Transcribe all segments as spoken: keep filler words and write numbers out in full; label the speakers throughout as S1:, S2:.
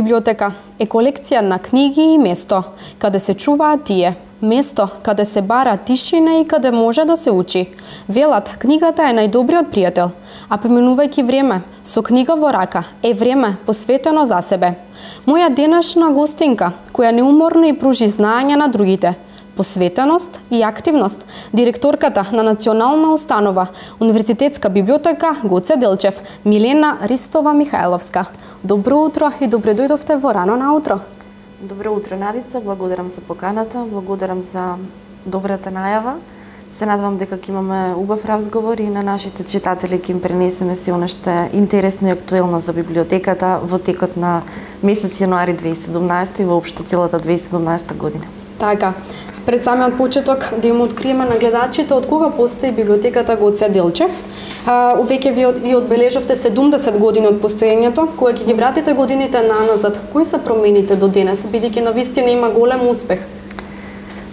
S1: библиотека е колекција на книги и место каде се чуваат тие, место каде се бара тишина и каде може да се учи. Велат, книгата е најдобриот пријател, а поминувајќи време со книга во рака е време посветено за себе. Моја денешна гостинка, која неуморно и пружи знаење на другите, посветеност и активност, директорката на Национална установа Универзитетска библиотека Гоце Делчев, Милена Ристова Михајловска. Добро утро и добре дојдовте во рано наутро.
S2: Добро утро, Надица, благодарам за поканата, благодарам за добрата најава. Се надевам дека ќе имаме убав разговор и на нашите читатели ќе им пренесеме се она што е интересно и актуелно за библиотеката во текот на месец јануари две илјади и седумнаесета и воопшто целата две илјади и седумнаесета година.
S1: Така, пред самиот почеток да им откриеме на гледачите од кога постои библиотеката Гоце Делчев. Увеќе ви одбележавте седумдесет години од постоењето, кога ќе ги вратите годините наназад. Кои се промените до денес, бидејќи навистина има голем успех?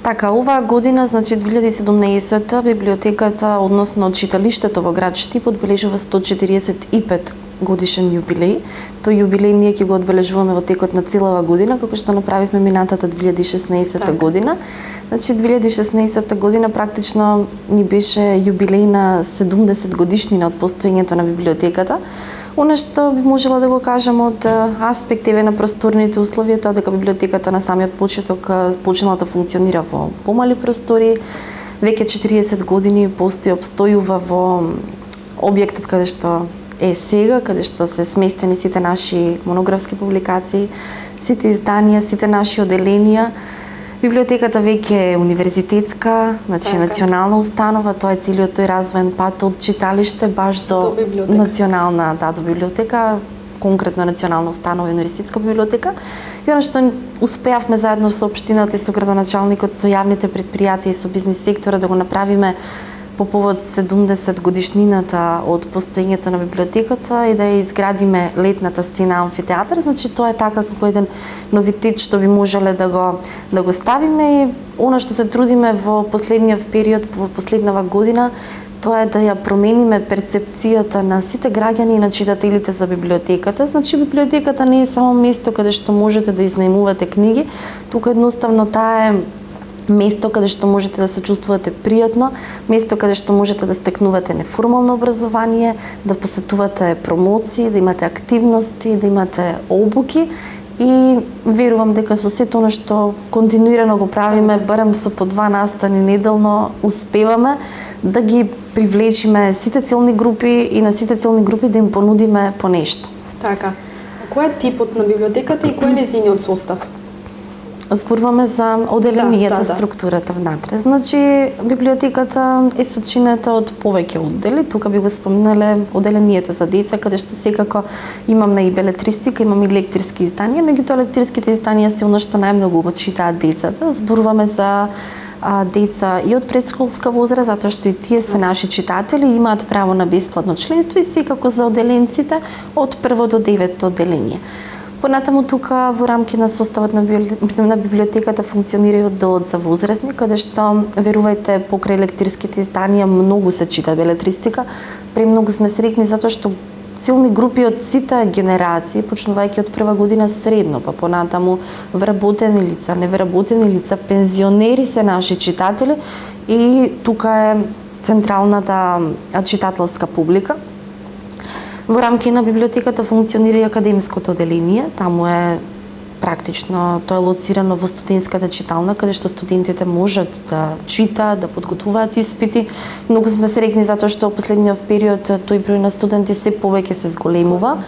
S2: Така, оваа година, значи две илјади и седумнаесета, библиотеката, односно читалиштето во град Штип одбележува сто четиридесет и пет годишен јубилеј. Тој јубилеј ние ќе го одбележуваме во текот на целава година, како што направивме минатата две илјади и шеснаесета година. Значи две илјади и шеснаесета година практично ни беше јубилеј на седумдесет годишнина од постоењето на библиотеката. Она што би можела да го кажам од аспект еве на просторните услови, тоа дека библиотеката на самиот почеток почнала да функционира во помали простори. Веќе четиридесет години постои, обстојува во објектот каде што е сега, каде што се сместени сите наши монографски публикации, сите изданија, сите наши оделенија. Библиотеката веќе е универзитетска, значи така, национална установа, тоа е целиот тој развоен пат од читалиште баш до, до национална, да, до библиотека, конкретно национална установа и универзитетска библиотека. И она што успеавме заедно со општината и со градоначалникот, со јавните предпријатија и со бизнис сектора да го направиме по повод седумдесет годишнината од постоењето на библиотеката и да ја изградиме летната сцена амфитеатар, значи тоа е така како еден новитет што би можеле да го да го ставиме и она што се трудиме во последниот период, во последнава година, тоа е да ја промениме перцепцијата на сите граѓани и на читателите за библиотеката. Значи библиотеката не е само место каде што можете да изнајмувате книги, тука едноставно таа е место каде што можете да се чувствувате пријатно, место каде што можете да стекнувате неформално образование, да посетувате промоции, да имате активности, да имате обуки и верувам дека со сето она што континуирано го правиме, барем со по два настани неделно, успеваме да ги привлечиме сите целни групи и на сите целни групи да им понудиме по нешто.
S1: Така. Кој е типот на библиотеката и кој е нејзиниот состав?
S2: Зборуваме за оделенијата, да, да, да. Структурата внатре. Значи, библиотеката е сочинета од повеќе оддели. Тука би го спомнале оделенијата за деца, каде што секако имаме и белетристика, имаме и лекторски изданија, меѓутоа лекторските изданија се она што најмногу го читаат децата. Зборуваме за а, деца и од предшколска возраст, затоа што и тие се наши читатели, имаат право на бесплатно членство и секако за оделенците од прво до девето оделение. Понатаму тука во рамки на составот на, на библиотеката функционира и одделот за возрастни, каде што, верувајте, покрај лекторските изданија многу се чита белетристика. Премногу сме среќни затоа што целни групи од сите генерации, почнувајќи од прва година средно, па понатаму вработени лица, невработени лица, пензионери се наши читатели и тука е централната читателска публика. Во рамки на библиотеката функционира и академското оделение, таму е практично тоа е лоцирано во студентската читална, каде што студентите можат да читаат, да подготвуваат испити. Многу сме среќни затоа што во последниот период тој број на студенти се повеќе се зголемува.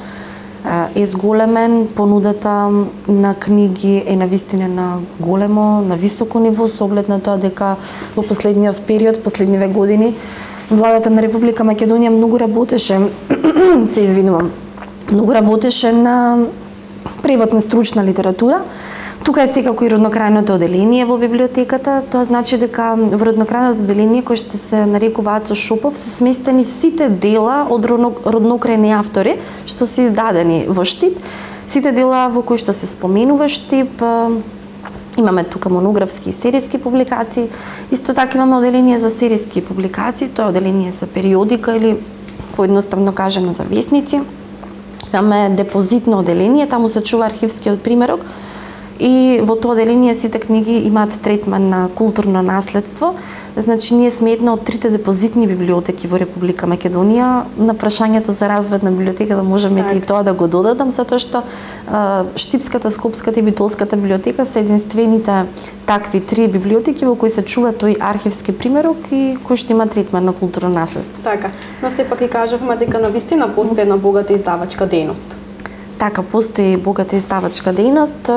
S2: Е зголемен, понудата на книги е навистина на големо, на високо ниво, со оглед на тоа дека во последниот период, последниве години, Владата на Република Македонија многу работеше, се извинувам, многу работеше на превод на стручна литература. Тука е секако и роднокрајното оделение во библиотеката. Тоа значи дека во роднокрајното оделение, кој што се нарекува Ацо Шопов, се сместени сите дела од роднокрајни автори што се издадени во Штип. Сите дела во кои што се споменува Штип, имаме тука монографски и серијски публикации. Исто така имаме оделение за серијски публикации, тоа е оделение за периодика или поедноставно кажано за весници. Имаме депозитно оделение, таму се чува архивскиот примерок и во тоа оделение сите книги имаат третман на културно наследство. Значи, ние сме една од трите депозитни библиотеки во Република Македонија. На прашањето за развој на библиотеката можеме и тоа да го додадам, затоа што а, Штипската, Скопската и Битолската библиотека се единствените такви три библиотеки во кои се чува тој архивски примерок и кој што има третман на културно наследство.
S1: Така, но сепак и кажавме дека навистина постои една богата издавачка дејност.
S2: Така, постои богата издавачка дејност.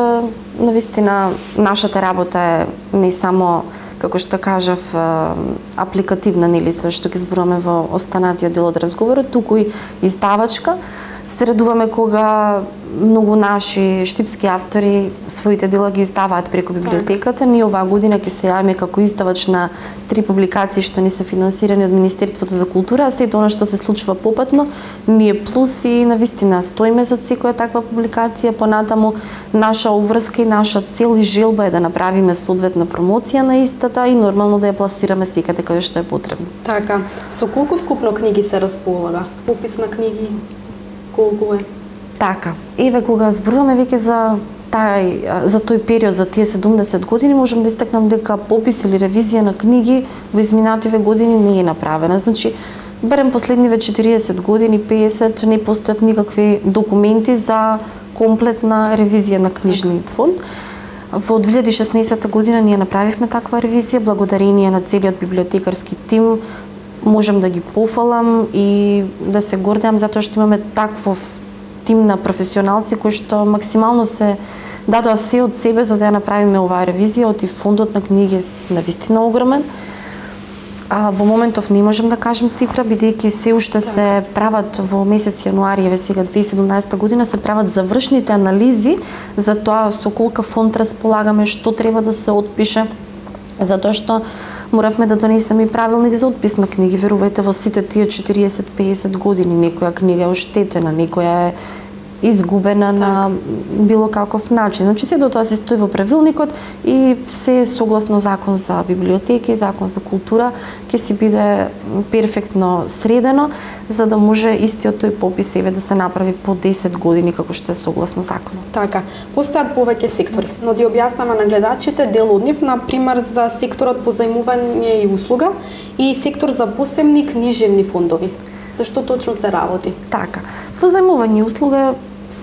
S2: Навистина, нашата работа е не само, како што кажав, апликативна, нели, се што ќе зборуваме во останатиот дел од разговорот, туку и издавачка. Се радуваме кога многу наши штипски автори своите дела ги издаваат преку библиотеката. Ние оваа година ќе се јавиме како издавач на три публикации што ни се финансирани од Министерството за култура, а сето она што се случува попатно, ние плюс и навистина стоиме за секоја таква публикација. Понатаму наша обврска и наша цел и желба е да направиме соодветна промоција на истата и нормално да ја пласираме секаде каде што е потребно.
S1: Така, со колку вкупно книги се располага? Попис на книги колку е?
S2: Така, еве кога зборуваме веќе за тај за тој период, за тие седумдесет години, можам да истакнам дека попис или ревизија на книги во изминативе години не е направена. Значи, барем последниве четириесет години, песет, не постојат никакви документи за комплетна ревизија на книжниот фонд. Во две илјади и шеснаесетта година ние направивме таква ревизија, благодарение на целиот библиотекарски тим. Можам да ги пофалам и да се гордеам затоа што имаме таков тим на професионалци кои што максимално се дадоа се од себе за да ја направиме оваа ревизија. Оти фондот на книги е навистина огромен. А во моментов не можам да кажам цифра, бидејќи се уште се прават во месец јануари, еве сега две илјади и седумнаесетта година, се прават завршните анализи за тоа со колка фонд располагаме, што треба да се отпише, затоа што моравме да донесеме и правилник за отпис на книги. Верувајте, во сите тие четириесет до песет години некоја книга е оштетена, некоја е изгубена на било каков начин. Значи, се до тоа се стои во правилникот и се согласно закон за библиотеки, закон за култура, ќе си биде перфектно средено, за да може истиот тој попис еве да се направи по десет години, како што е согласно законот.
S1: Така, постојат повеќе сектори, но да објаснаме на гледачите дел од нив, на пример за секторот по зајмување и услуга и сектор за посебни книжевни фондови. Зашто точно се работи?
S2: Така, по зајмување и услуга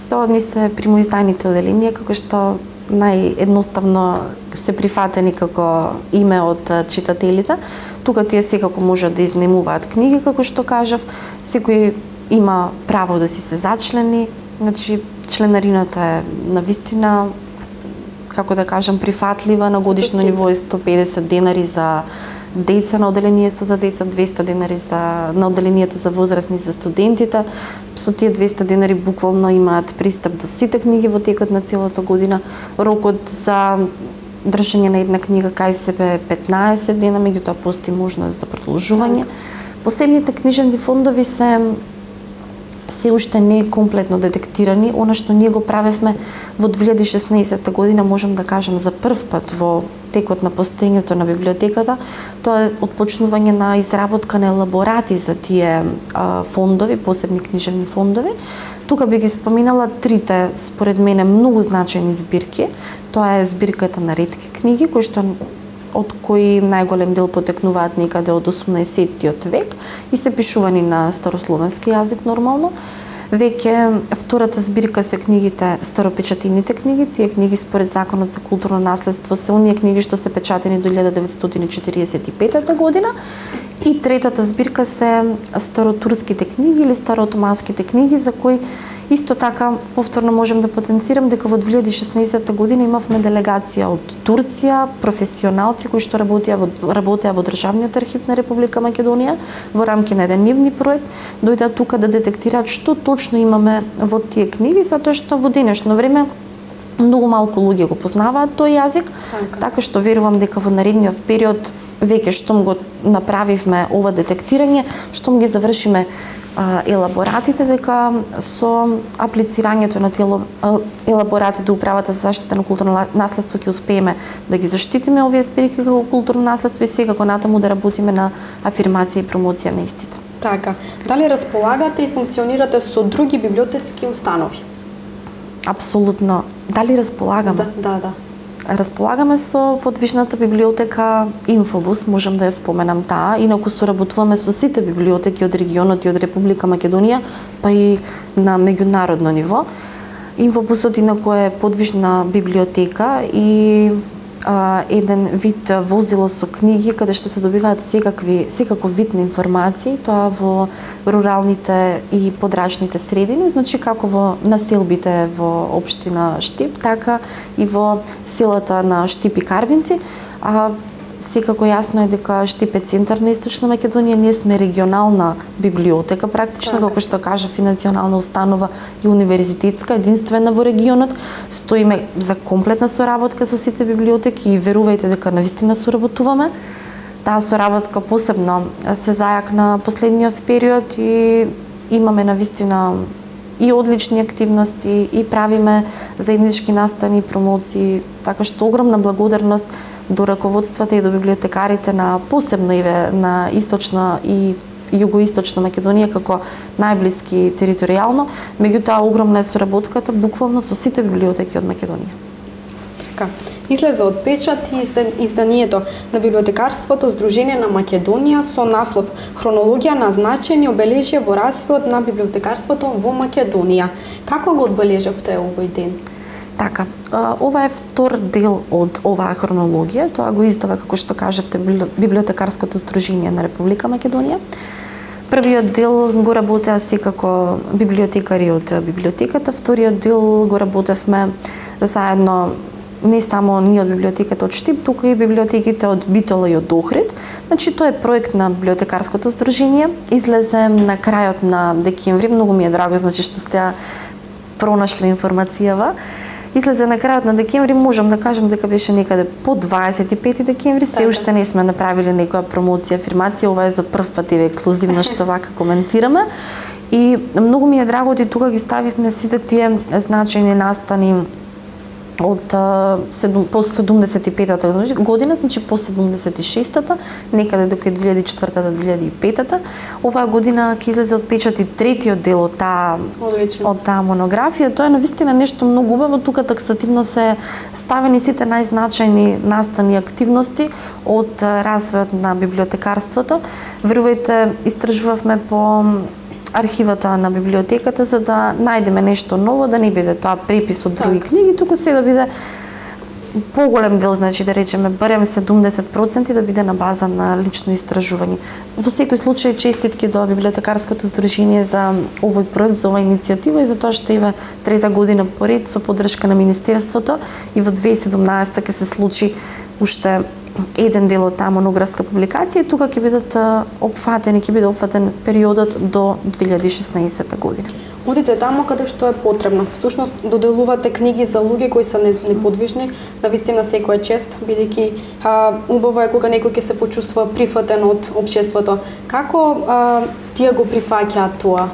S2: одни се примоизданите оделенија, како што наједноставно се прифатени како име од читателите. Тука тие секако можат да изнемуваат книги, како што кажав. Секој има право да си се зачлени. Значи, членарината е навистина, како да кажам, прифатлива. На годишно ниво е сто педесет денари за деца на оделението за деца, двесте денари за на оделението за возрастни за студентите. Со тие двесте денари буквално имаат пристап до сите книги во текот на целата година. Рокот за држање на една книга кај себе е петнаесет дена, меѓутоа постои можност за продолжување. Посебните книжевни фондови се се уште не е комплетно детектирани. Она што ние го правевме во две илјади и шеснаесетта година, можам да кажам за прв пат во текот на постоењето на библиотеката, тоа е отпочнување на изработка на елаборати за тие а, фондови, посебни книжевни фондови. Тука би ги споминала трите, според мене, многу значајни збирки. Тоа е збирката на ретки книги, кои што од кои најголем дел потекнуваат некаде од осумнаесеттиот век и се пишувани на старословенски јазик нормално. Веќе втората збирка се книгите, старопечатените книги. Тие книги според Законот за културно наследство се оние книги што се печатени до илјада деветстотини четириесет и петта година. И третата збирка се старотурските книги или староотоманските книги, за кои исто така повторно можем да потенцирам дека во две илјади и шеснаесетта година имавме делегација од Турција, професионалци кои што работеа во, работеа во Државниот архив на Република Македонија во рамки на еден нивни проект, дојдоа тука да детектираат што точно имаме во тие книги, затоа што во денешно време многу малку луѓе го познаваат тој јазик, така, така што верувам дека во наредниот период веќе штом го направивме ова детектирање, штом ги завршиме елаборатите, дека со аплицирањето на тие елаборати до Управата за заштита на културно наследство ќе успееме да ги заштитиме овие збирки како културно наследство и секако натаму да работиме на афирмација и промоција на истите.
S1: Така, дали располагате и функционирате со други библиотечки установи?
S2: Апсолутно. Дали располагаме?
S1: Да, да, да.
S2: Располагаме со подвижната библиотека Инфобус, можам да ја споменам таа, инаку соработуваме со сите библиотеки од регионот и од Република Македонија, па и на меѓународно ниво. Инфобусот инаку е подвижна библиотека и а, еден вид возило со книги каде што се добиваат секакви секаков вид на информации, тоа во руралните и подрачните средини, значи како во населбите во општина Штип, така и во селата на Штип и Карбинци. А секако јасно е дека Штип е центар на Источна Македонија, ние сме регионална библиотека практично, како што кажав, и национална установа и универзитетска, единствена во регионот. Стоиме за комплетна соработка со сите библиотеки и верувајте дека навистина соработуваме. Таа соработка посебно се зајакна последниот период и имаме навистина и одлични активности и правиме заеднички настани и промоции, така што огромна благодарност до раководствата и до библиотекарите на посебно и на Источна и Југоисточна Македонија како најблиски територијално, меѓутоа огромна е соработката буквално со сите библиотеки од Македонија.
S1: Така, излезе од печат и изданието на библиотекарството Здружение на Македонија со наслов Хронологија на значајни обележја во развојот на библиотекарството во Македонија. Како го одбележавте овој ден?
S2: Така, ова е втор дел од оваа хронологија, тоа го издава, како што кажавте, Библиотекарското здружение на Република Македонија. Првиот дел го работеа секако библиотекари од библиотеката, вториот дел го работевме заедно не само ние од библиотеката од Штип, туку и библиотеките од Битола и од Охрид. Значи, тоа е проект на Библиотекарското здружение. Излезе на крајот на декември, многу ми е драго, значи што сте пронашле информацијава. Излезе на крајот на декември, можам да кажам дека беше некаде по дваесет и пети декември, се уште не сме направиле некоја промоција, афирмација, ова е за прв пат еве ексклузивно што вака коментираме. И многу ми е драго и тука ги ставивме сите тие значајни настани од по седумдесет и петата година, значи по седумдесет и шестата, некаде до две илјади и четвртата до две илјади и петата. Оваа година ќе излезе од печат и третиот дел од таа од таа монографија. Тоа е навистина нешто многу убаво, тука таксативно се ставени сите најзначајни настани и активности од развојот на библиотекарството. Верувајте, истражувавме по архивата на библиотеката за да најдеме нешто ново, да не биде тоа препис од други книги, туку се да биде поголем дел, значи да речеме барем седумдесет проценти да биде на база на лично истражување. Во секој случај честитки до Библиотекарското здружение за овој проект, за оваа иницијатива и за тоа што ива трета година поред со поддршка на Министерството и во две илјади и седумнаесета ќе се случи уште еден дел од таа монографска публикација, тука ќе бидат опфатени, ќе биде опфатен периодот до две илјади и шеснаесета година.
S1: Одите таму каде што е потребно. Всушност доделувате книги за луѓе кои се неподвижни, навистина секоја чест, бидејќи убаво е кога некој ќе се почувствува прифатен од општеството. Како а, тие го прифаќаат тоа?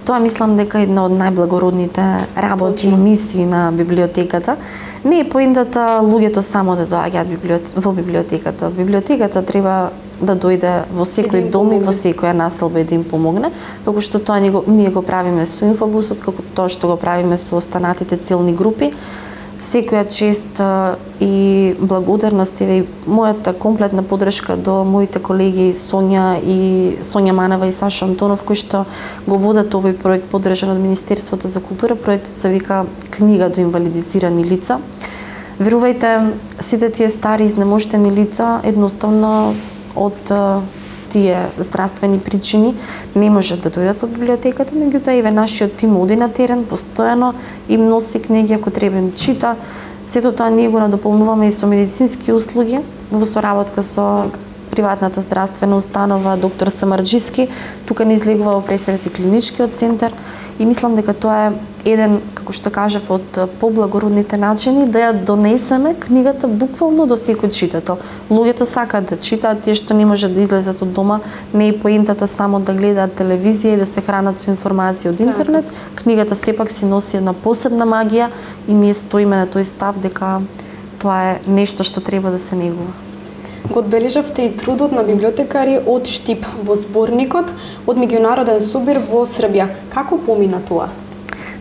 S2: Тоа мислам дека е една од најблагородните работи и мисии на библиотеката. Не е поентата луѓето само да доаѓаат во библиотеката. Библиотеката треба да дојде во секој дом и во секоја населба и да им помогне, како што тоа ние го правиме со Инфобусот, како тоа што го правиме со останатите целни групи. Секоја чест и благодарност и мојата комплетна поддршка до моите колеги Сонја и Сонја Манева и Саша Антонов, кои што го водат овој проект поддржан од Министерството за култура. Проектот се вика Книга до инвалидизирани лица. Верувајте, сите тие стари изнемоштени лица едноставно од тие здравствени причини не можат да дојдат во библиотеката, меѓутоа еве нашиот тим оди на терен постојано и носи книги ако треба им чита. Сето тоа ние го надополнуваме и со медицински услуги во соработка со приватната здравствена установа доктор Самарџиски. Тука не излегува во Пресрет и клиничкиот центар и мислам дека тоа е еден, како што кажав, од поблагородните начини да ја донесеме книгата буквално до секој читател. Луѓето сакаат да читаат, тие што не можат да излезат од дома, не е поентата само да гледаат телевизија и да се хранат со информации од интернет. Книгата сепак си носи една посебна магија и ние стоиме на тој став дека тоа е нешто што треба да се негува.
S1: Го одбележавте и трудот на библиотекари од Штип во зборникот од меѓународен собир во Србија. Како помина тоа?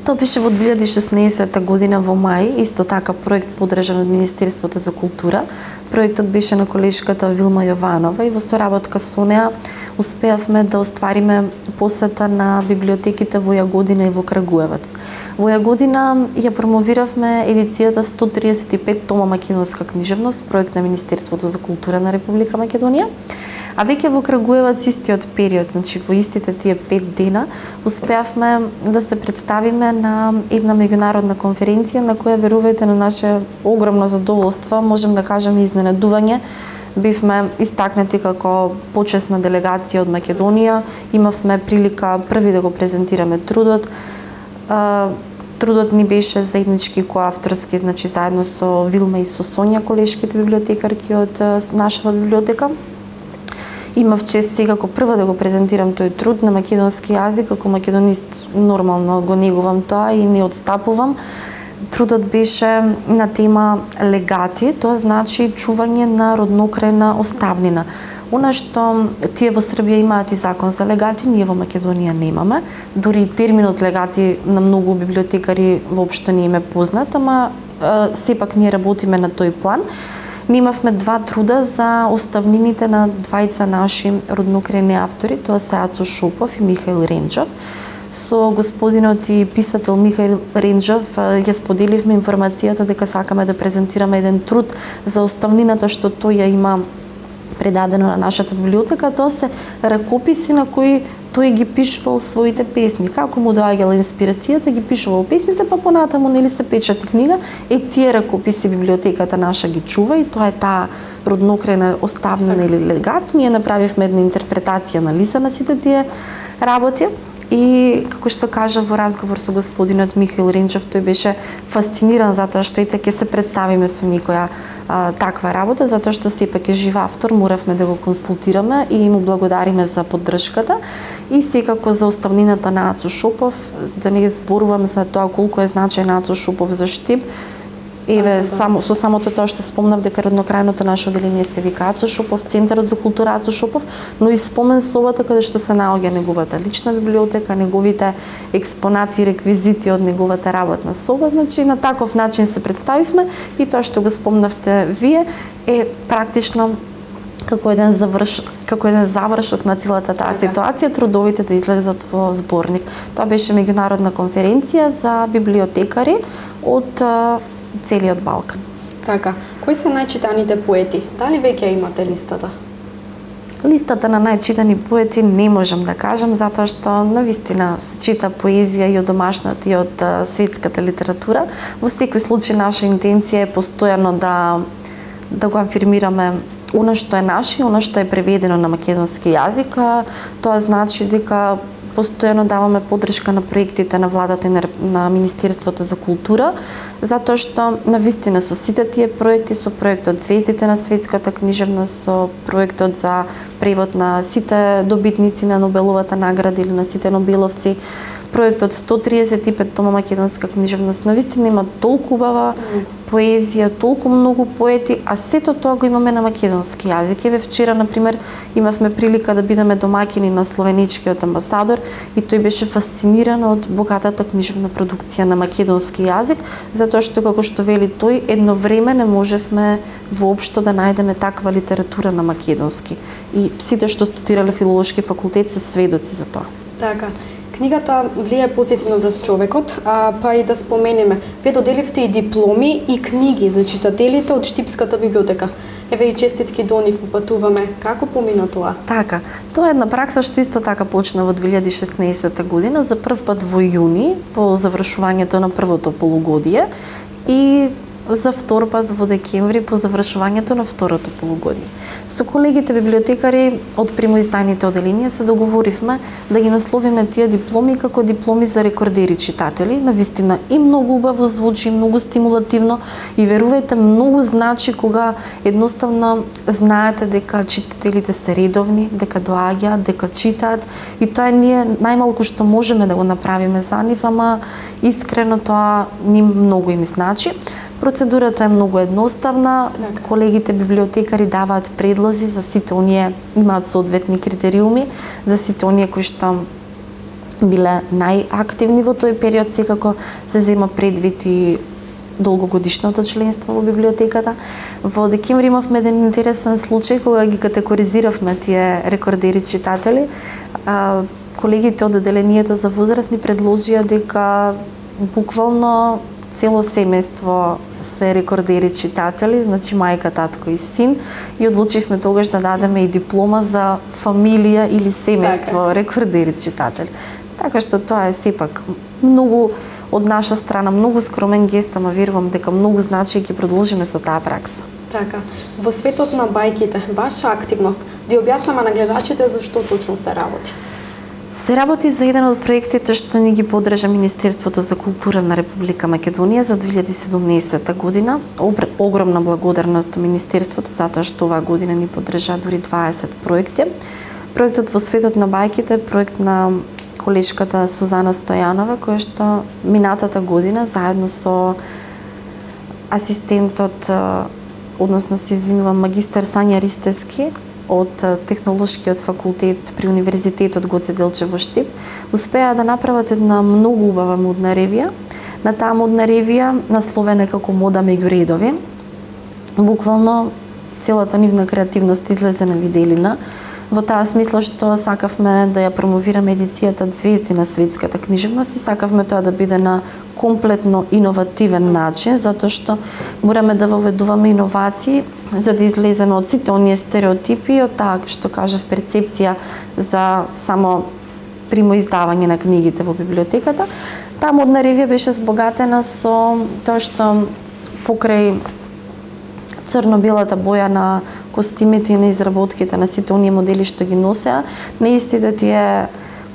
S2: Тоа беше во две илјади и шеснаесетта година во мај, исто така проект подржан од Министерството за култура. Проектот беше на колешката Вилма Јованова и во соработка со неа успеавме да оствариме посета на библиотеките во Јагодина и во Крагуевац. Во Јагодина ја промовиравме едицијата сто триесет и пет тома македонска книжевност, проект на Министерството за култура на Република Македонија. А веќе во Крагуевац истиот период, значи во истите тие пет дена, успеавме да се представиме на една меѓународна конференција на која, верувајте, на наше огромно задоволство, можем да кажеме изненадување, бивме истакнати како почесна делегација од Македонија, имавме прилика први да го презентираме трудот. Трудот ни беше заеднички коавторски, значи заедно со Вилма и со Сонја, колешките библиотекарки од нашава библиотека. Имав чест сега како прва да го презентирам тој труд на македонски јазик, како македонист нормално го негувам тоа и не отстапувам. Трудот беше на тема легати, тоа значи чување на роднокрајна оставнина. Она што тие во Србија имаат и закон за легати, ние во Македонија немаме. Дури терминот легати на многу библиотекари воопшто не им е познат, ама е, сепак ние работиме на тој план. Немавме два труда за оставнините на двајца наши роднокрајни автори, тоа се Ацо Шопов и Михаил Ренџов. Со господинот и писател Михаил Ренџов ја споделивме информацијата дека сакаме да презентираме еден труд за оставнината што тој ја има предадено на нашата библиотека. Тоа се ракописи на кои тој ги пишувал своите песни. Како му доаѓала инспирацијата, ги пишувал песните, па понатаму нели се печати книга. Е, тие ракописи библиотеката наша ги чува и тоа е таа роднокрајна оставнина или легат. Ние направивме една интерпретација на лиса на сите тие работи. И како што кажа во разговор со господинот Михаил Ренџов, тој беше фасциниран затоа што и ќе се представиме со некоја а, таква работа, затоа што сепак е жив автор, моравме да го консултираме и му благодариме за поддршката. И секако за оставнината на Ацо Шопов, да не зборувам за тоа колку е значајна Ацо Шопов за Штип. Еве, само, со самото тоа што спомнав дека роднокрајното наше оделение се вика Ацо Шопов, Центарот за култура Ацо Шопов, но и спомен собата каде што се наоѓа неговата лична библиотека, неговите експонати и реквизити од неговата работна соба. Значи, на таков начин се представивме и тоа што го спомнавте вие е практично како еден заврш, како еден завршок на целата таа ситуација, трудовите да излезат во зборник. Тоа беше меѓународна конференција за библиотекари од целиот Балкан.
S1: Така, кои се најчитаните поети? Дали веќе имате листата?
S2: Листата на најчитани поети не можам да кажам, затоа што навистина се чита поезија и од домашната и од светската литература. Во секој случај наша интенција е постојано да да го афирмираме она што е наше, она што е преведено на македонски јазик. Тоа значи дека постојано даваме поддршка на проектите на владата и на, на Министерството за култура, затоа што навистина со сите тие проекти, со проектот Звездите на светската книжевност, со проектот за превод на сите добитници на Нобеловата награда или на сите нобеловци, проектот сто триесет и пет тома македонска книжевност, навистина има толку убава поезија, толку многу поети, а сето тоа го имаме на македонски јазик. Еве вчера, например, имавме прилика да бидеме домаќини на словеничкиот амбасадор и тој беше фасциниран од богатата книжевна продукција на македонски јазик, затоа што, како што вели тој, едно време не можевме воопшто да најдеме таква литература на македонски. И сите што студирале филолошки факултет се сведоци за тоа.
S1: Така. Книгата влијае позитивно врз човекот, а, па и да споменеме, вие доделивте и дипломи и книги за читателите од Штипската библиотека. Еве и честитки до нив упатуваме. Како помина тоа?
S2: Така, тоа е една пракса што исто така почна во две илјади и шеснаесетта година, за прв пат во јуни, по завршувањето на првото полугодие, и за втор пат во декември по завршувањето на второто полугодие. Со колегите библиотекари од примоизданите оделенија се договоривме да ги насловиме тие дипломи како дипломи за рекордери читатели. Навистина и многу убаво звучи, многу стимулативно и верувајте, многу значи кога едноставно знаете дека читателите се редовни, дека доаѓаат, дека читаат, и тоа е ние најмалку што можеме да го направиме за нив, ама искрено тоа ним многу им значи. Процедурата е многу едноставна.
S1: Така.
S2: Колегите библиотекари даваат предлози за сите оние, имаат соодветни критериуми за сите оние кои што биле најактивни во тој период. Секако се зема предвид и долгогодишното членство во библиотеката. Во декември имавме еден интересен случај кога ги категоризиравме тие рекордери читатели. А, колегите од одделението за возрастни предложија дека буквално цело семејство се рекордери читатели, значи мајка, татко и син, и одлучивме тогаш да дадеме и диплома за фамилија или семејство така. Рекордери читатели. Така што тоа е сепак многу од наша страна, многу скромен гест, ама верувам дека многу значи и ќе продолжиме со таа пракса.
S1: Така, во светот на бајките, ваша активност, да објаснаме на гледачите за што точно се работи?
S2: Се работи за еден од проектите што ни ги поддржа Министерството за култура на Република Македонија за две илјади и седумнаесета година. Огромна благодарност до Министерството затоа што оваа година ни поддржа дури дваесет проекти. Проектот во светот на бајките е проект на колешката Сузана Стојанова, која што минатата година заедно со асистентот, односно се извинувам, магистар Сања Ристевски од Технолошкиот факултет при Универзитетот Гоце Делчев во Штип, успеа да направат една многу убава модна ревија. На таа модна ревија, насловена како Мода меѓу редови, буквално целата нивна креативност излезе на виделина. Во таа смисла што сакавме да ја промовираме едицијата Звезди на светската книжевност и сакавме тоа да биде на комплетно иновативен начин, затоа што мораме да воведуваме иновации за да излеземе од сите оние стереотипи, од таа што кажав перцепција за само примо издавање на книгите во библиотеката. Таа модна ревија беше збогатена со тоа што покрај црно-белата боја на костимите и на изработките на сите оние модели што ги носеа, на истите тие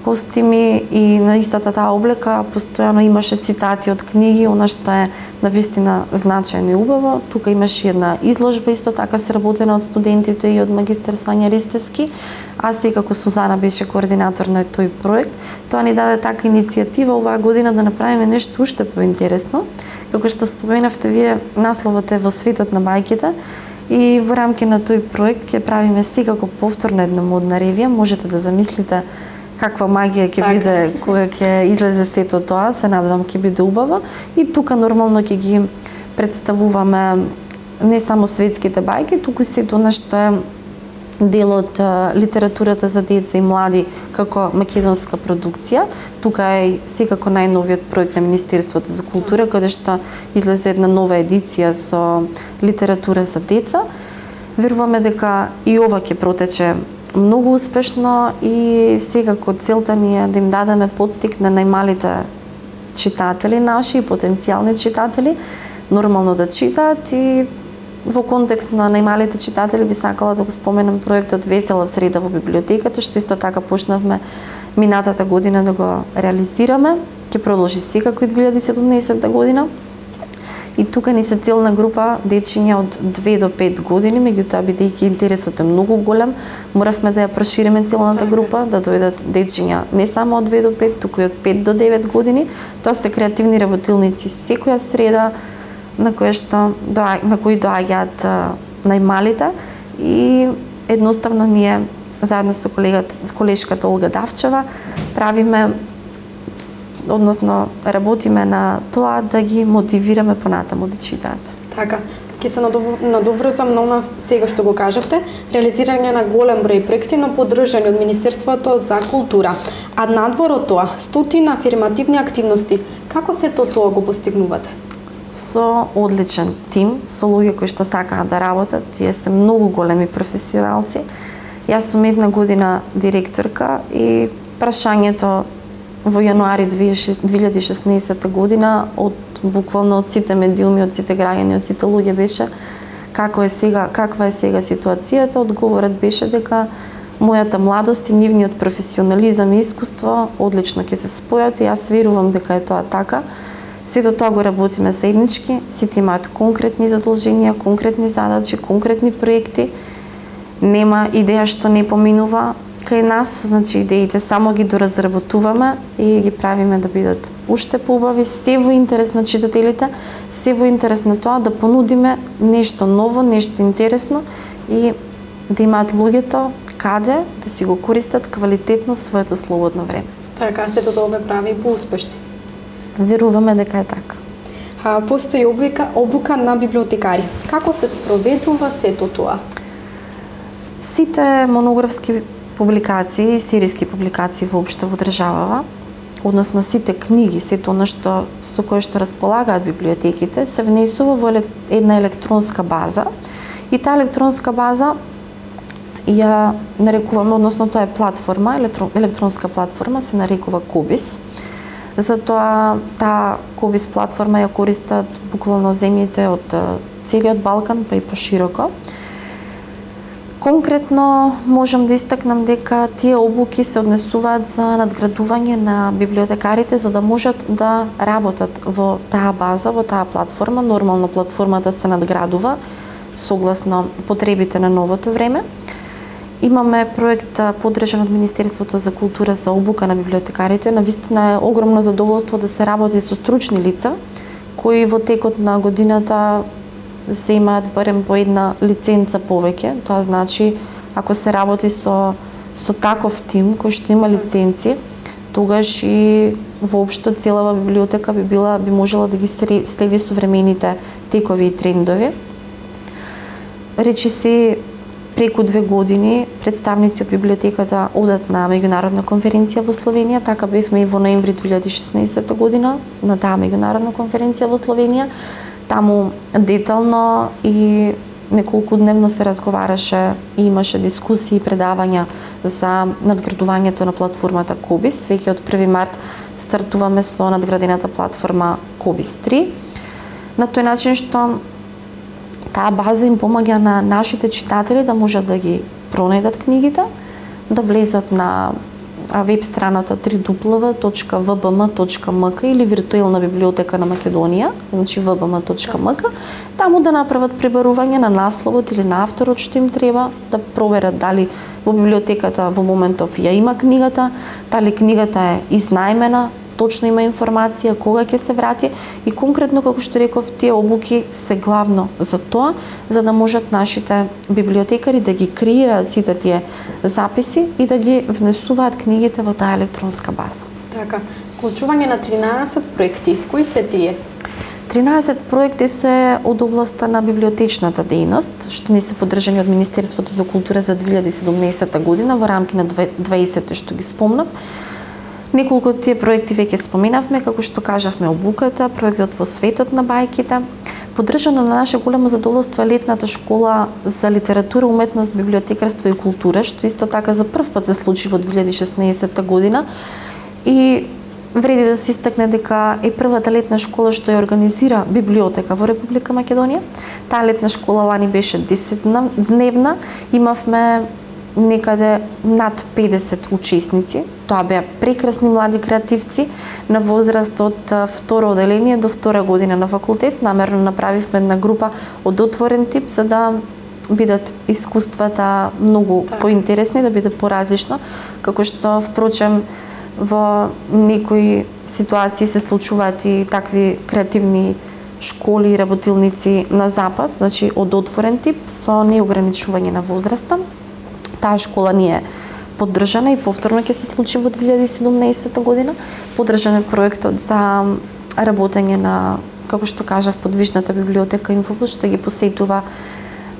S2: костими и на истата таа облека постојано имаше цитати од книги, она што е навистина значајно и убаво. Тука имаше една изложба исто така сработена од студентите и од магистар Сања Ристевски, а секако Сузана беше координатор на тој проект. Тоа ни даде така иницијатива оваа година да направиме нешто уште поинтересно. Како што споменавте вие, насловот е во светот на бајките и во рамки на тој проект ќе правиме секако повторно една модна ревија. Можете да замислите каква магија ќе биде кога ќе излезе сето тоа, се надевам ќе биде убаво. И тука нормално ќе ги представуваме не само светските бајки, туку сето она што е дел од литературата за деца и млади како македонска продукција. Тука е секако најновиот проект на Министерството за култура, каде што излезе една нова едиција со литература за деца. Веруваме дека и ова ќе протече многу успешно и секако целта ни е да им дадеме поттик на најмалите читатели наши и потенцијални читатели нормално да читаат. И во контекст на најмалите читатели би сакала да го споменам проектот Весела среда во библиотеката, што исто така почнавме минатата година да го реализираме. Ќе продолжи секако и две илјади и седумнаесета година. И тука ни се целна група дечиња од две до пет години, меѓутоа бидејќи интересот е многу голем, моравме да ја прошириме целната група, да дојдат дечиња не само од две до пет, туку и од пет до девет години. Тоа се креативни работилници секоја среда на кои што на кои доаѓаат најмалите и едноставно ние заедно со колегата, со колешката Олга Давчева правиме, односно работиме на тоа да ги мотивираме понатаму да читаат.
S1: Така, ќе се надоврзам на она сега што го кажавте, реализирање на голем број проекти, но поддржани од Министерството за култура. А надвор од тоа, стотина афирмативни активности. Како сето тоа го постигнувате?
S2: Со одличен тим, со луѓе кои што сакаат да работат, тие се многу големи професионалци. Јас сум една година директорка и прашањето во јануари две илјади и шеснаесета година од буквално од сите медиуми, од сите граѓани, од сите луѓе беше како е сега, каква е сега ситуацијата. Одговорот беше дека мојата младост и нивниот професионализам и искуство одлично ќе се спојат и јас верувам дека е тоа така. Сето тоа го работиме заеднички, сите имаат конкретни задолженија, конкретни задачи, конкретни проекти. Нема идеја што не поминува кај нас, значи идеите само ги доразработуваме и ги правиме да бидат уште поубави, се во интерес на читателите, се во интерес на тоа да понудиме нешто ново, нешто интересно и да имаат луѓето каде да си го користат квалитетно своето слободно време.
S1: Така, сето тоа ве прави поуспешни.
S2: Веруваме дека е така.
S1: А, постои обука, обука на библиотекари. Како се спроведува сето тоа?
S2: Сите монографски публикации, серијски публикации воопшто во државава, односно сите книги, сето она што со кое што располагаат библиотеките, се внесува во една електронска база и таа електронска база ја нарекуваме, односно тоа е платформа, електрон, електронска платформа се нарекува Кобис. Затоа таа Кобис платформа ја користат буквално земјите од целиот Балкан па и пошироко. Конкретно можам да истакнам дека тие обуки се однесуваат за надградување на библиотекарите за да можат да работат во таа база, во таа платформа. Нормално платформата се надградува согласно потребите на новото време. Имаме проект поддржан од Министерството за култура за обука на библиотекарите. Навистина е огромно задоволство да се работи со стручни лица кои во текот на годината се имаат барем по една лиценца повеќе. Тоа значи ако се работи со со таков тим кој што има лиценци, тогаш и воопшто целава библиотека би била би можела да ги следи современите текови и трендови. Речи се преку две години представници од библиотеката одат на меѓународна конференција во Словенија, така бевме и во ноември две илјади и шеснаесетта година на таа меѓународна конференција во Словенија. Таму детално и неколку дневно се разговараше и имаше дискусии и предавања за надградувањето на платформата Кобис. Веќе од први март стартуваме со надградената платформа Кобис три. На тој начин што таа база им помаѓа на нашите читатели да можат да ги пронајдат книгите, да влезат на веб страната три дабл ю точка в б м точка м к или виртуелна библиотека на Македонија, значи в б м точка м к, таму да направат пребарување на насловот или на авторот што им треба, да проверат дали во библиотеката во моментов ја има книгата, дали книгата е изнајмена, точно има информација кога ќе се врати и конкретно како што реков тие обуки се главно за тоа, за да можат нашите библиотекари да ги креираат сите тие записи и да ги внесуваат книгите во таа електронска база.
S1: Така, вклучување на тринаесет проекти, кои се тие?
S2: тринаесет проекти се од областа на библиотечната дејност, што не се поддржани од Министерството за култура за две илјади и седумнаесетта година во рамки на дваесетте што ги спомнав. Неколку од тие проекти веќе споменавме, како што кажавме обуката, проектот во светот на бајките. Поддржана на наше големо задоволство е летната школа за литература, уметност, библиотекарство и култура, што исто така за прв пат се случи во две илјади и шеснаесетта година. И вреди да се истакне дека е првата летна школа што ја организира библиотека во Република Македонија. Таа летна школа лани беше десетдневна, имавме некаде над педесет учесници. Тоа беа прекрасни млади креативци на возраст од второ оделение до втора година на факултет. Намерно направивме една група од отворен тип за да бидат искуствата многу так поинтересни, да биде поразлично, како што впрочем во некои ситуации се случуваат и такви креативни школи и работилници на запад, значи од отворен тип со неограничување на возраста. Таа школа ни е поддржана и повторно ќе се случи во две илјади и седумнаесетта година. Поддржан е проектот за работење на, како што кажав, подвижната библиотека Инфобус, што ги посетува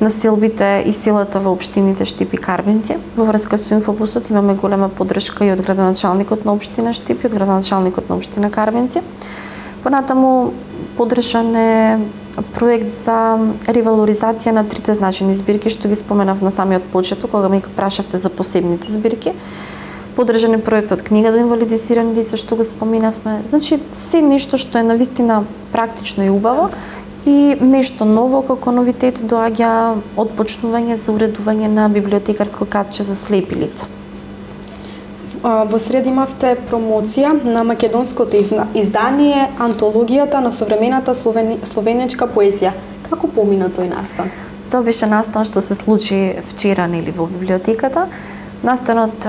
S2: населбите и селата во општините Штип и Карбинци. Во врска со Инфобусот имаме голема поддршка и од градоначалникот на општина Штип и од градоначалникот на општина Карбинци. Понатаму поддржан е проект за ревалоризација на трите значени збирки што ги споменав на самиот почеток кога ме прашавте за посебните збирки. Поддржан е проектот Книга до инвалидизирани лица што го споменавме. Значи се нешто што е навистина практично и убаво и нешто ново како новитет доаѓа од почнување за уредување на библиотекарско катче за слепи лица.
S1: Во среда имавте промоција на македонското издание Антологијата на современата словени... словенечка поезија. Како помина тој настан?
S2: Тоа беше настан што се случи вчера нели во библиотеката. Настанот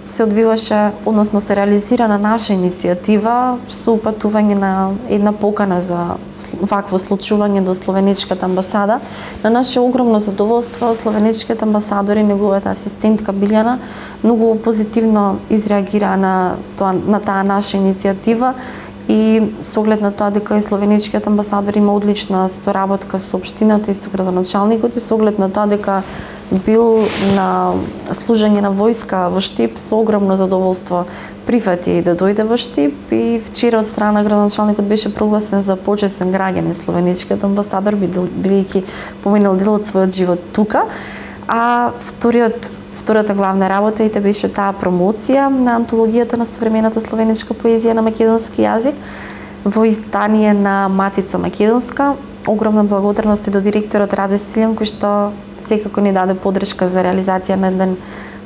S2: се одвиваше, односно се реализира на наша иницијатива со упатување на една покана за вакво случување до Словенечката амбасада. На наше огромно задоволство, словенечкиот амбасадор и неговата асистентка Билјана многу позитивно изреагира на тоа, на таа наша иницијатива и со оглед на тоа дека и словенечкиот амбасадор има одлична соработка со општината и со градоначалникот и со оглед на тоа дека бил на служење на војска во Штип, со огромно задоволство прифати да дојде во Штип и вчера од страна градоначалникот беше прогласен за почесен граѓанин словенечкиот амбасадор, бидејќи поминал дел од својот живот тука. А вториот Втората главна работа и беше таа промоција на антологијата на современата словенечка поезија на македонски јазик во издание на Матица Македонска. Огромна благодарност и до директорот Раде Силјан, кој што секако ни даде подршка за реализација на еден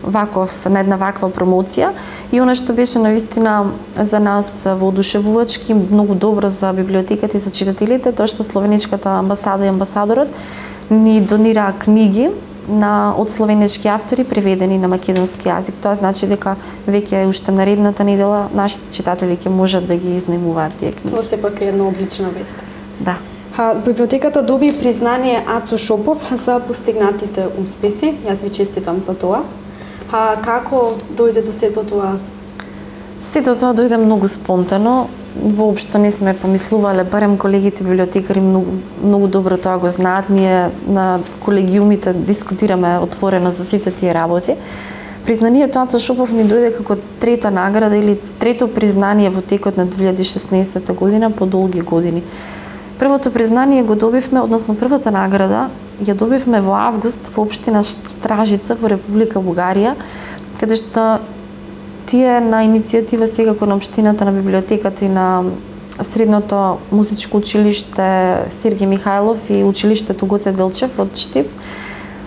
S2: ваков, на една ваква промоција. И она што беше навистина за нас воодушевувачки, многу добро за библиотеката и за читателите, тоа што словенечката амбасада и амбасадорот ни донира книги на од словенечки автори преведени на македонски јазик. Тоа значи дека веќе уште наредната недела нашите читатели ќе можат да ги изнемуваат тие книги.
S1: Тоа сепак е една одлична вест.
S2: Да.
S1: Ха, библиотеката доби признание Ацо Шопов за постигнатите успеси. Јас ви честитам за тоа. Ха, како дојде до сето тоа?
S2: Сето тоа дојде многу спонтано. Воопшто не сме помислувале, барем колегите библиотекари многу, многу добро тоа го знаат. Ние на колегиумите дискутираме отворено за сите тие работи. Признанието Ацо Шопов ни дојде како трета награда или трето признание во текот на две илјади и шеснаесетта година по долги години. Првото признание го добивме, односно првата награда ја добивме во август во општина Стражица во Република Бугарија, каде што тие на иницијатива секако на општината, на библиотеката и на Средното музичко училиште Сергеј Михајлов и училиштето Гоце Делчев од Штип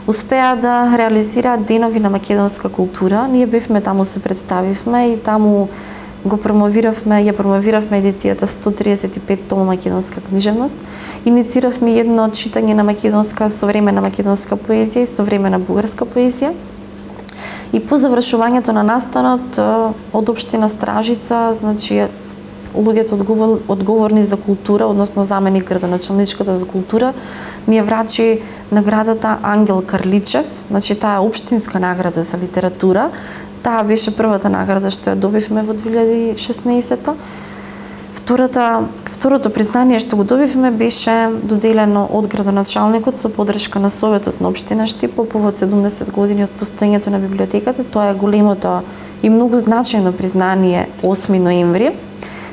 S2: успеа да реализираат денови на македонска култура. Ние бевме таму, се представивме и таму го промовиравме, ја промовиравме едицијата сто триесет и пет тома македонска книжевност. Инициравме едно читање на македонска, современа македонска поезија и современа бугарска поезија. И по завршувањето на настанот од општина Стражица, значи луѓето одговор, одговорни за култура, односно заменик градоначалничката за култура, ми ја врачи наградата Ангел Карличев, значи таа е општинска награда за литература. Таа беше првата награда што ја добивме во две илјади и шеснаесетта. Втората, второто признание што го добивме беше доделено од градоначалникот со подршка на Советот на општина Штип по повод седумдесет години од постоењето на библиотеката. Тоа е големото и многу значајно признание осми ноември,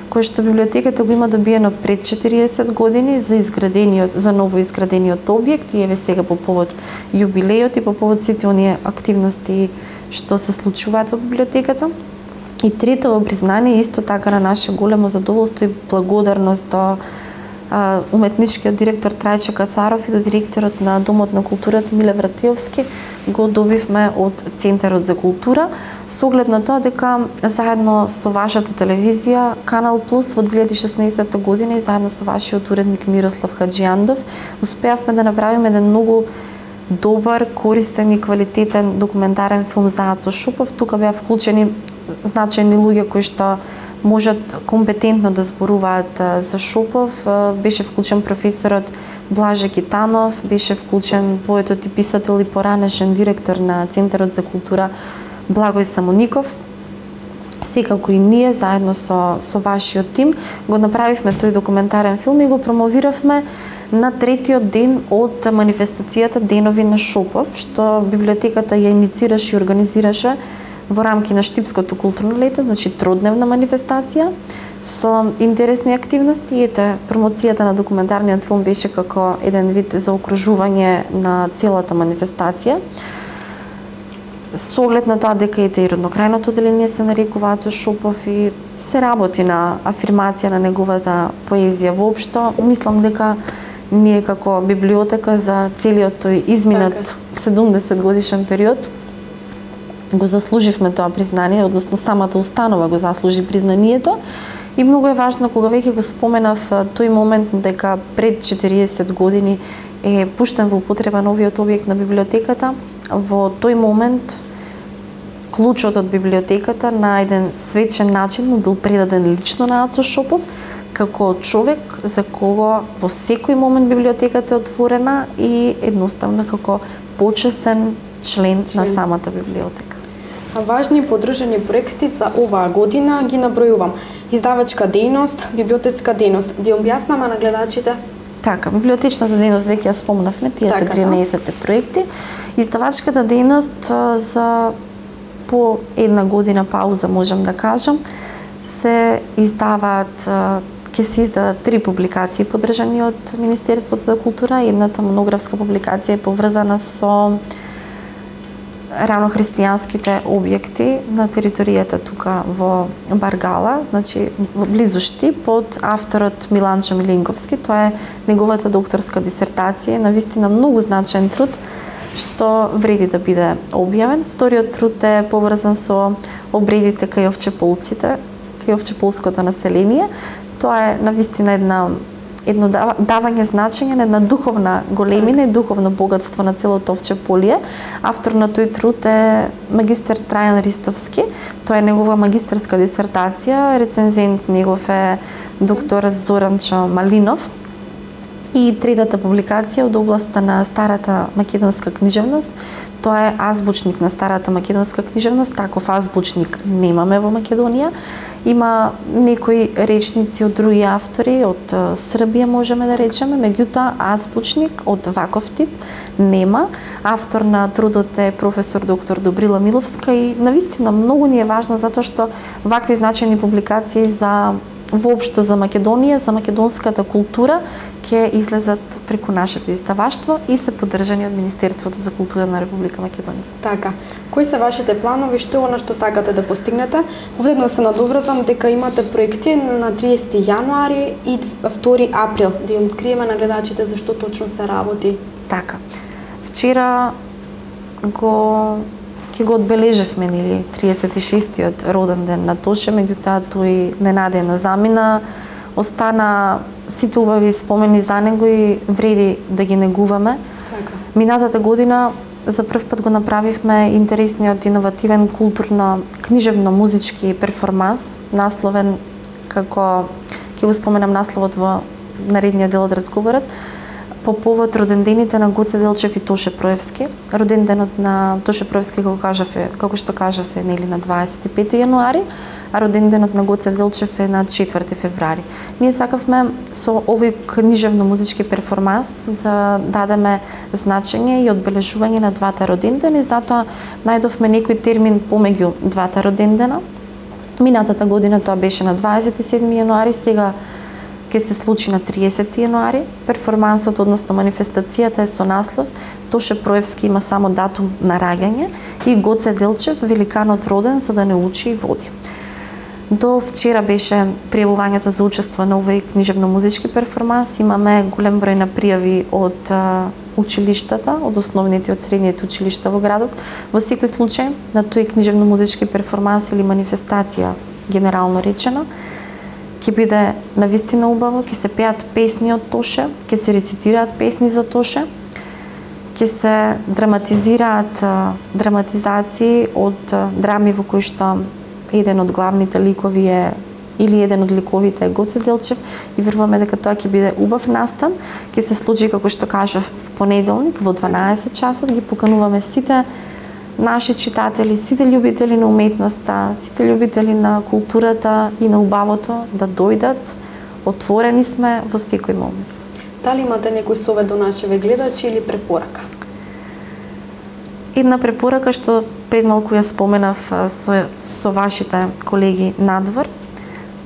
S2: кое што библиотеката го има добиено пред четириесет години за изградениот, за ново изградениот објект и еве сега по повод јубилејот и по повод сите оние активности што се случуваат во библиотеката. И третото признание исто така на наше големо задоволство и благодарност до а, уметничкиот директор Трајче Кацаров и до директорот на Домот на културата Миле Вратиовски го добивме од Центарот за култура, со оглед на тоа дека заедно со вашата телевизија Канал Плюс во две илјади и шеснаесетта година и заедно со вашиот уредник Мирослав Хаджијандов успеавме да направиме еден многу добар, користен и квалитетен документарен филм за Ацо Шопов. Тука беа вклучени значајни луѓе кои што можат компетентно да зборуваат за Шопов. Беше вклучен професорот Блаже Китанов, беше вклучен поетот и писател и поранешен директор на Центарот за култура Благој Самоников. Секако и ние заедно со со вашиот тим го направивме тој документарен филм и го промовиравме на третиот ден од манифестацијата Денови на Шопов, што библиотеката ја иницираше и организираше во рамки на Штипското културно лето, значи тродневна манифестација со интересни активности. И ете, промоцијата на документарниот филм беше како еден вид за окружување на целата манифестација. Со оглед на тоа дека ете и роднокрајното одделение се нарекува Ацо Шопов и се работи на афирмација на неговата поезија воопшто, мислам дека ние како библиотека за целиот тој изминат седумдесет годишен период го заслуживме тоа признание, односно самата установа го заслужи признанието. И многу е важно, кога веќе го споменав тој момент дека пред четириесет години е пуштен во употреба новиот објект на библиотеката, во тој момент клучот од библиотеката на еден свечен начин му бил предаден лично на Ацо Шопов, како човек за кого во секој момент библиотеката е отворена и едноставно како почесен член, член. на самата библиотека.
S1: Важни поддржани проекти за оваа година ги набројувам. Издавачка дејност, библиотечка дејност. Ди објаснама на гледачите?
S2: Така, библиотечната дејност веќе ја спомнавме, тие така, се тринаесет проекти. Издавачката дејност за по една година пауза, можам да кажам, се издаваат, ќе се издадат три публикации поддржани од Министерството за култура. Едната монографска публикација е поврзана со ранохристијанските објекти на територијата тука во Баргала, значи во близу Штип, под авторот Миланчо Милинковски. Тоа е неговата докторска дисертација, навистина многу значаен труд што вреди да биде објавен. Вториот труд е поврзан со обредите кај овчеполците, кај овчеполското население. Тоа е навистина една едно давање значење на една духовна големина и духовно богатство на целото овчеполие. Автор на тој труд е магистер Трајан Ристовски. Тоа е негова магистерска дисертација, рецензент негов е доктор Зоранчо Малинов. И третата публикација од областа на старата македонска книжевност, тоа е азбучник на старата македонска книжевност. Таков азбучник немаме во Македонија. Има некои речници од други автори, од Србија можеме да речеме, меѓутоа азбучник од ваков тип нема. Автор на трудот е професор доктор Добрила Миловска и навистина многу ни е важно затоа што вакви значајни публикации за воопшто за Македонија, за македонската култура ќе излезат преку нашето издаваштво и се поддржани од Министерството за култура на Република Македонија.
S1: Така, кои се вашите планови, што е она што сакате да постигнете? Овде да се надоврзам дека имате проекти на триесети јануари и втори април, да ја откриеме на гледачите за што точно се работи.
S2: Така. Вчера го ќе го одбележевме, нели, триесет и шестиот роден ден на Тоше, меѓутоа тој ненадејно замина, остана сите убави спомени за него и вреди да ги негуваме.
S1: Така.
S2: Минатата година за прв пат го направивме интересниот иновативен културно-книжевно-музички перформанс, насловен како, ќе го споменам насловот во наредниот дел од разговорот, по повод родендените на Гоце Делчев и Тоше Проевски. Роденденот на Тоше Проевски, како кажаве, како што кажаве, нели на дваесет и пети јануари, а роденденот на Гоце Делчев е на четврти февруари. Ние сакавме со овој книжевно-музички перформанс да дадеме значење и одбележување на двата родендени, затоа најдовме некој термин помеѓу двата родендена. Минатата година тоа беше на дваесет и седми јануари, сега ќе се случи на триесети јануари. Перформансот, односно манифестацијата е со наслов Тоше Проевски има само датум на раѓање и Гоце Делчев, великанот роден за да не учи и води. До вчера беше пријавувањето за учество на овој книжевно-музички перформанс. Имаме голем број на пријави од а, училиштата, од основните и од средните училишта во градот. Во секој случај на тој книжевно-музички перформанс или манифестација, генерално речено, ќе биде навистина убаво, ќе се пеат песни од Тоше, ќе се рецитираат песни за Тоше, ќе се драматизираат а, драматизации од а, драми во кои што еден од главните ликови е или еден од ликовите е Гоце Делчев и веруваме дека тоа ќе биде убав настан. Ќе се случи, како што кажав, в понеделник во дванаесет часот. Ги покануваме сите наши читатели, сите љубители на уметноста, сите љубители на културата и на убавото да дојдат. Отворени сме во секој момент.
S1: Дали имате некој совет до нашиве гледачи или препорака?
S2: Една препорака што пред малку ја споменав со, со вашите колеги надвор.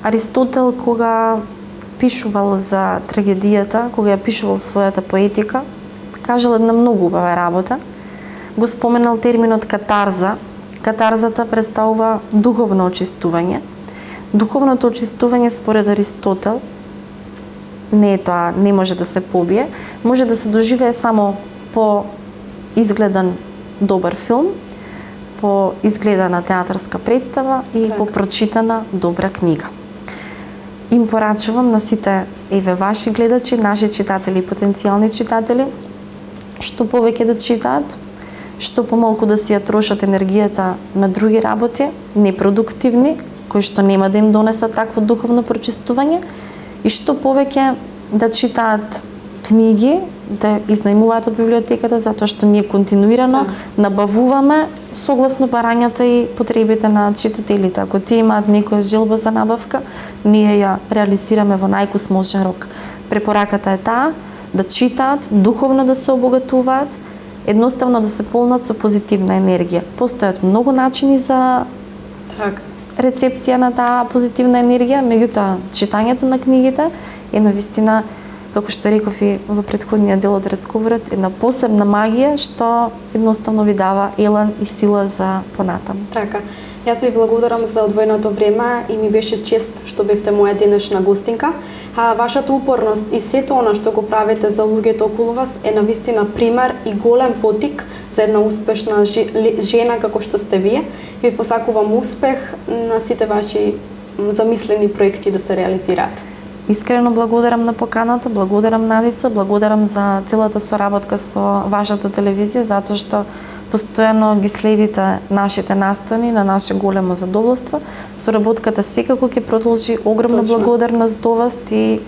S2: Аристотел, кога пишувал за трагедијата, кога ја пишувал својата поетика, кажал една многу убава работа. Го споменал терминот катарза. Катарзата представува духовно очистување. Духовното очистување според Аристотел не е тоа, не може да се побие, може да се доживее само по изгледан добар филм, по изгледана театарска представа и так. по прочитана добра книга. Им порачувам на сите еве ваши гледачи, наши читатели и потенцијални читатели, што повеќе да читаат, што помалку да си ја трошат енергијата на други работи, непродуктивни, кои што нема да им донесат такво духовно прочистување, и што повеќе да читаат книги, да изнајмуваат од библиотеката, затоа што ние континуирано да. набавуваме согласно барањата и потребите на читателите. Ако тие имаат некоја желба за набавка, ние ја реализираме во најкусможен рок. Препораката е таа, да читаат, духовно да се обогатуваат, едноставно да се полнат со позитивна енергија. Постојат многу начини за
S1: так.
S2: рецепција на таа позитивна енергија, меѓутоа читањето на книгите е навистина, како што реков и во претходниот дел од разговорот, една посебна магија што едноставно ви дава елан и сила за понатаму.
S1: Така. Јас ви благодарам за одвоеното време и ми беше чест што бевте моја денешна гостинка. А вашата упорност и сето она што го правите за луѓето околу вас е навистина пример и голем потик за една успешна жена како што сте вие. Ви посакувам успех на сите ваши замислени проекти да се реализираат.
S2: Искрено благодарам на поканата, благодарам Надица, благодарам за целата соработка со вашата телевизија, затоа што постојано ги следите нашите настани, на наше големо задоволство. Соработката секако ќе продолжи, огромна Точно. благодарност до вас и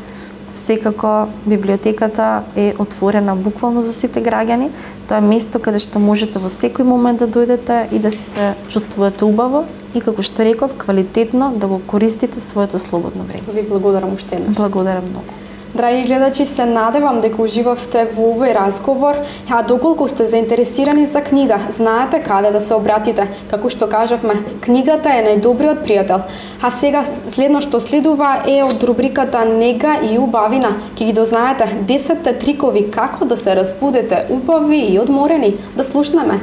S2: секако библиотеката е отворена буквално за сите граѓани. Тоа е место каде што можете во секој момент да дојдете и да си се чувствувате убаво и, како што реков, квалитетно да го користите своето слободно време.
S1: Ви благодарам уште еднаш.
S2: Благодарам многу.
S1: Драги гледачи, се надевам дека уживавте во овој разговор, а доколку сте заинтересирани за книга, знаете каде да се обратите. Како што кажавме, книгата е најдобриот пријател. А сега следно што следува е од рубриката Нега и убавина. Ќе ги дознаете десетте трикови како да се разбудете убави и одморени. Да слушнеме.